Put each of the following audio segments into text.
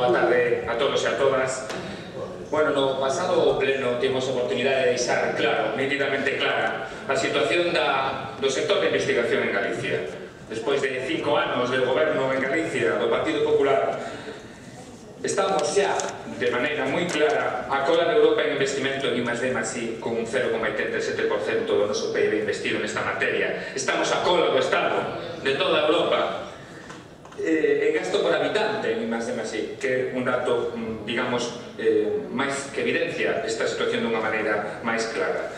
boa tarde a todos e a todas. Bueno, no pasado pleno temos a oportunidade de deixar claro, nítidamente clara, a situación do sector de investigación en Galicia. Despois de 5 anos de goberno en Galicia do Partido Popular, estamos xa, de maneira moi clara, a cola de Europa en investimento en I+D+I, con un 0,87% do noso PIB investido nesta materia. Estamos a cola do Estado de toda Europa en gasto por habitante en I+D+I, que é un dato, digamos, máis que evidencia esta situación dunha maneira máis clara.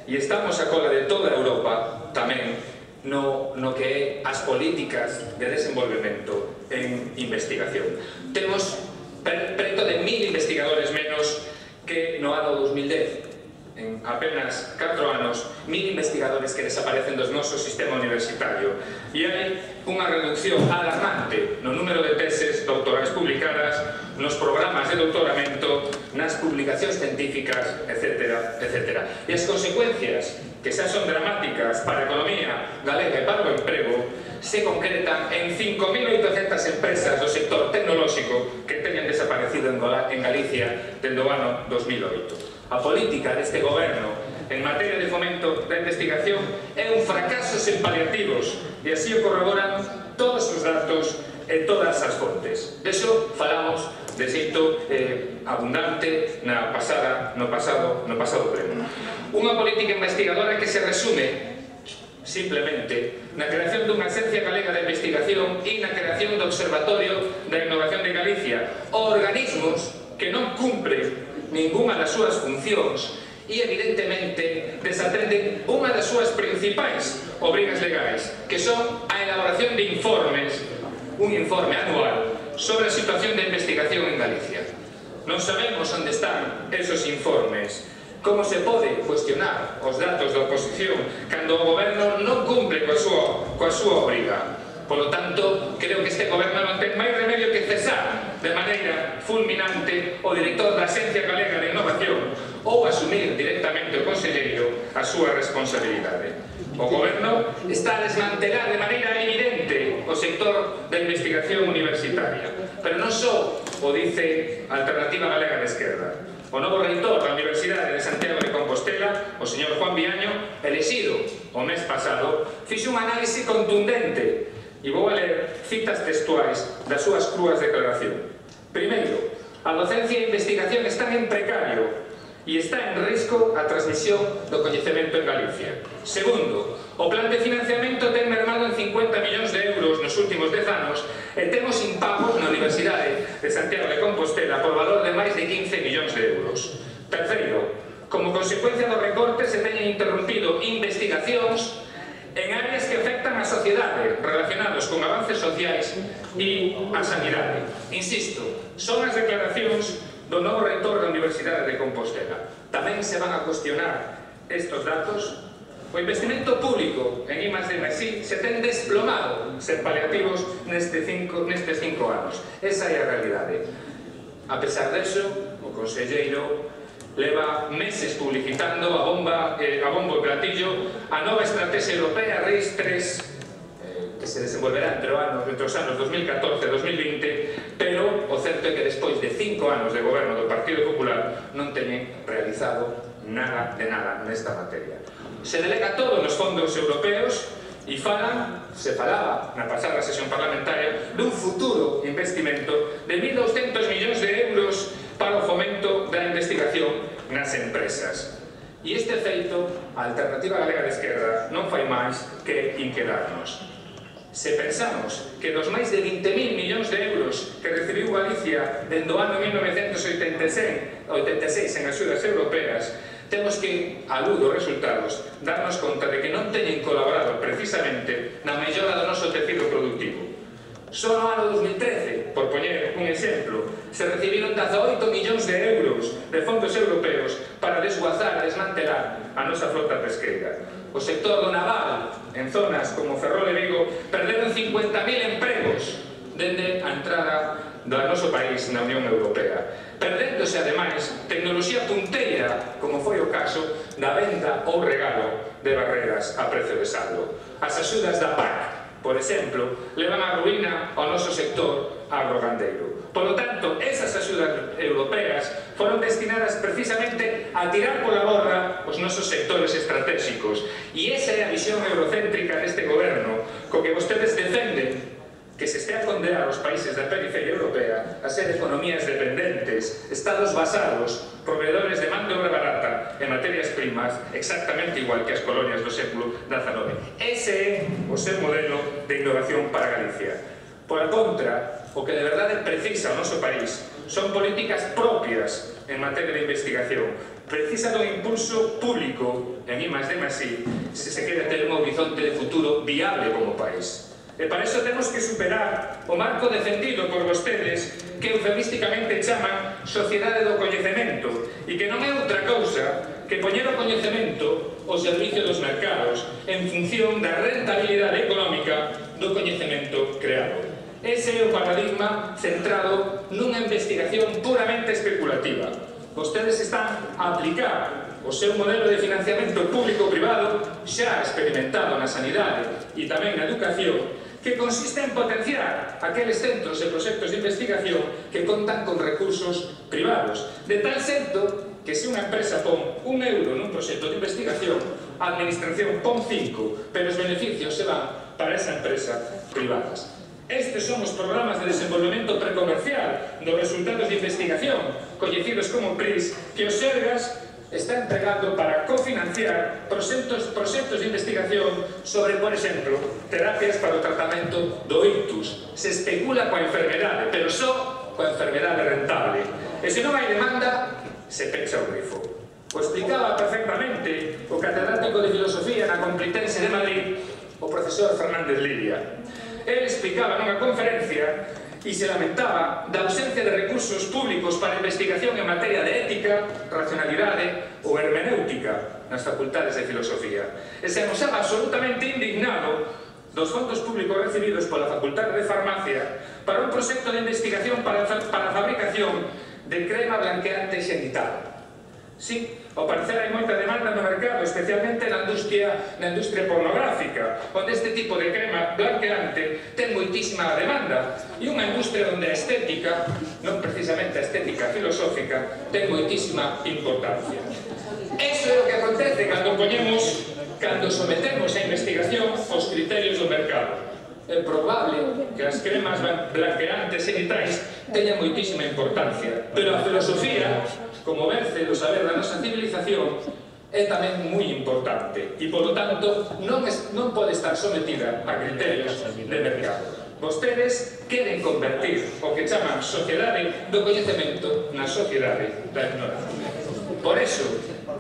E estamos a cola de toda Europa tamén no que é as políticas de desenvolvemento en investigación. Temos preto de 1000 investigadores menos que no ano 2010. En apenas 4 anos, 1000 investigadores que desaparecen do noso sistema universitario. E hai unha reducción alarmante no número de teses doutorais publicadas, nos programas de doutoramento, nas publicacións científicas, etc., etc. E as consecuencias, que xa son dramáticas para a economía galega e para o emprego, se concretan en 5.800 empresas do sector tecnolóxico que teñen desaparecido en Galicia desde o ano 2008. A política deste goberno en materia de fomento da investigación é un fracaso sen paliativos e así o corroboran todos os datos e todas as fontes. De iso falamos de xeito abundante no pasado pleno. Unha política investigadora que se resume simplemente na creación dunha Axencia Galega de Investigación e na creación do Observatorio da Innovación de Galicia, organismos que non cumpren ninguna das súas funcións e evidentemente desatenden unha das súas principais obrigas legais, que son a elaboración de informes, un informe anual sobre a situación de investigación en Galicia. Non sabemos onde están esos informes. Como se pode cuestionar os datos da oposición cando o goberno non cumple coa súa obriga? Por lo tanto, creo que este goberno non ten máis remedio que cesar de maneira fulminante o director da Axencia Galega de Innovación ou asumir directamente o conselleiro a súa responsabilidade. O goberno está a desmantelar de maneira evidente o sector da investigación universitaria, pero non só o dice a Alternativa Galega de Esquerda. O novo reitor da Universidade de Santiago de Compostela, o señor Juan Viaño, elexido o mes pasado, fixo unha análise contundente. E vou a ler citas textuais das súas crúas declaración. Primeiro, a docencia e a investigación están en precario e está en risco a transmisión do coñecemento en Galicia. Segundo, o plan de financiamento ten mermado en 50 millóns de euros nos últimos 10 anos e temos impagos na Universidade de Santiago de Compostela por valor de máis de 15 millóns de euros. Terceiro, como consecuencia do recorte se teñen interrompido investigacións en áreas que afectan a sociedade relacionados con avances sociais e a sanidade. Insisto, son as declaracións do novo reitor da Universidade de Compostela. Tamén se van a cuestionar estes datos. O investimento público en I+D+I se ten desplomado sen paliativos nestes 5 anos. Esa é a realidade. A pesar deso, o conselleiro leva meses publicitando a bombo e platillo a nova estrategia europea RIS3 que se desenvolverá entre os anos 2014 e 2020, pero o certo é que despois de 5 anos de goberno do Partido Popular non teñen realizado nada de nada nesta materia. Se delega todo nos fondos europeos e se falaba na pasada sesión parlamentaria dun futuro investimento de 1.200 millóns de euros para o fomento da investigación nas empresas. E este feito, a Alternativa Galega de Esquerda non fai máis que inquedarnos. Se pensamos que dos máis de 20.000 millóns de euros que recibiu Galicia dende o ano 1986 en axudas europeas, temos que, á luz dos resultados, darnos conta de que non teñen colaborado precisamente na mellora do noso tecido productivo. Só no ano 2013, por poñer un exemplo, se recibiron 18 millóns de euros de fondos europeos para desguazar e desmantelar a nosa flota pesqueira. O sector do naval, en zonas como Ferrol e Vigo, perderon 50.000 empregos dende a entrada do noso país na Unión Europea, perdéndose, ademais, tecnoloxía punteira, como foi o caso da venda ou regalo de barreras a precio de saldo. As axudas da PAC, por exemplo, levan a ruína ao noso sector agrogandeiro. Por lo tanto, tirar pola borda os nosos sectores estratégicos. E esa é a visión eurocéntrica deste goberno, co que vostedes defenden que se estea a condear os países da periferia europea a ser economías dependentes, estados basados, proveedores de man de obra barata e materias primas exactamente igual que as colonias do século XIX. Ese é o seu modelo de innovación para Galicia. Por a contra, o que de verdade precisa o noso país son políticas propias en materia de investigación. Precisa do impulso público en I+D+I se se quere ter un horizonte de futuro viable como país. E para iso temos que superar o marco defendido por vostedes que eufemísticamente chaman sociedade do coñecemento e que non é outra cousa que poñer o coñecemento ao servicio dos mercados en función da rentabilidade económica do coñecemento creado. Ese é o paradigma centrado nunha investigación puramente especulativa. Vostedes están a aplicar o seu modelo de financiamento público-privado xa experimentado na sanidade e tamén na educación, que consiste en potenciar aqueles centros e proxectos de investigación que contan con recursos privados, de tal xeito que se unha empresa pon €1 nun proxecto de investigación, a administración pon 5, pero os beneficios se van para esa empresa privadas. Estes son os programas de desenvolvemento precomercial dos resultados de investigación, coñecidos como PRIs, que os Sergas está entregando para cofinanciar proxectos de investigación sobre, por exemplo, terapias para o tratamento do ictus. Se especula coa enfermedade, pero só coa enfermedade rentable. E se non hai demanda, se pecha o grifo. O explicaba perfectamente o catedrático de Filosofía na Complutense de Madrid, o profesor Fernández Lidia. Ele explicaba nunha conferencia e se lamentaba da ausencia de recursos públicos para investigación en materia de ética, racionalidade ou hermenéutica nas facultades de filosofía. E se amosaba absolutamente indignado dos fondos públicos recibidos pola Facultade de Farmacia para un proxecto de investigación para a fabricación de crema blanqueante xenital. Sí, ao parecer hai moita demanda no mercado, especialmente na industria pornográfica, onde este tipo de crema blanqueante ten moitísima demanda, e unha industria onde a estética, non precisamente a estética filosófica, ten moitísima importancia. Eso é o que acontece cando sometemos a investigación aos criterios do mercado. É probable que as cremas blanqueantes xenitais teñan moitísima importancia, pero a filosofía, como verce do saber da nosa civilización, é tamén moi importante e, polo tanto, non pode estar sometida a criterios de mercado. Vostedes queren convertir o que chaman sociedade do coñecemento na sociedade da ignorancia. Por eso,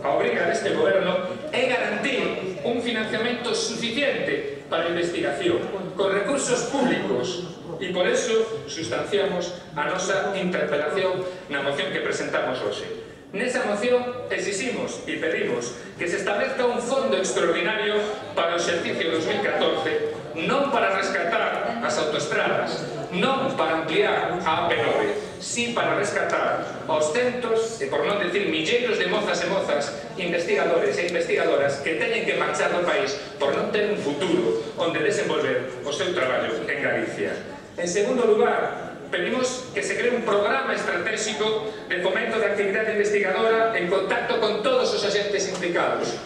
a obriga deste goberno é garantir un financiamento suficiente para a investigación, con recursos públicos, e por eso sustanciamos a nosa interpelación na moción que presentamos hoxe. Nesa moción exiximos e pedimos que se establezca un fondo extraordinario para o exercicio 2014, non para rescatar as autoestradas, non para ampliar a AP9, sí para rescatar aos centos, e por non decir milleiros de mozas e mozas, investigadores e investigadoras que teñen que marchar do país por non ter un futuro onde desenvolver o seu traballo en Galicia. En segundo lugar, pedimos que se cree un programa estratégico de fomento da actividade investigadora en contacto con todos os agentes implicados.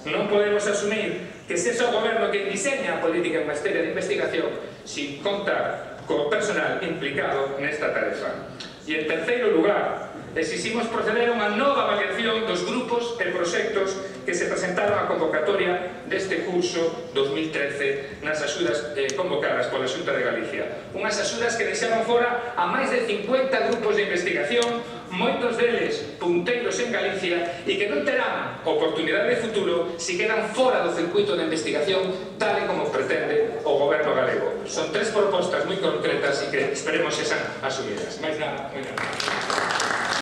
Non podemos asumir que sexa o goberno que diseña a política en materia de investigación sin contar co personal implicado nesta tarefa. E en terceiro lugar, exiximos proceder a unha nova avaliación dos grupos e proxectos que se presentaron á convocatoria deste curso 2013 nas axudas convocadas pola Xunta de Galicia. Unhas axudas que deixaron fora a máis de 50 grupos de investigación, moitos deles punteiros en Galicia, e que non terán oportunidade de futuro se quedan fora do circuito de investigación tal e como pretende o goberno galego. Son 3 propostas moi concretas e que esperemos que sean asumidas. Mais nada, moi nada.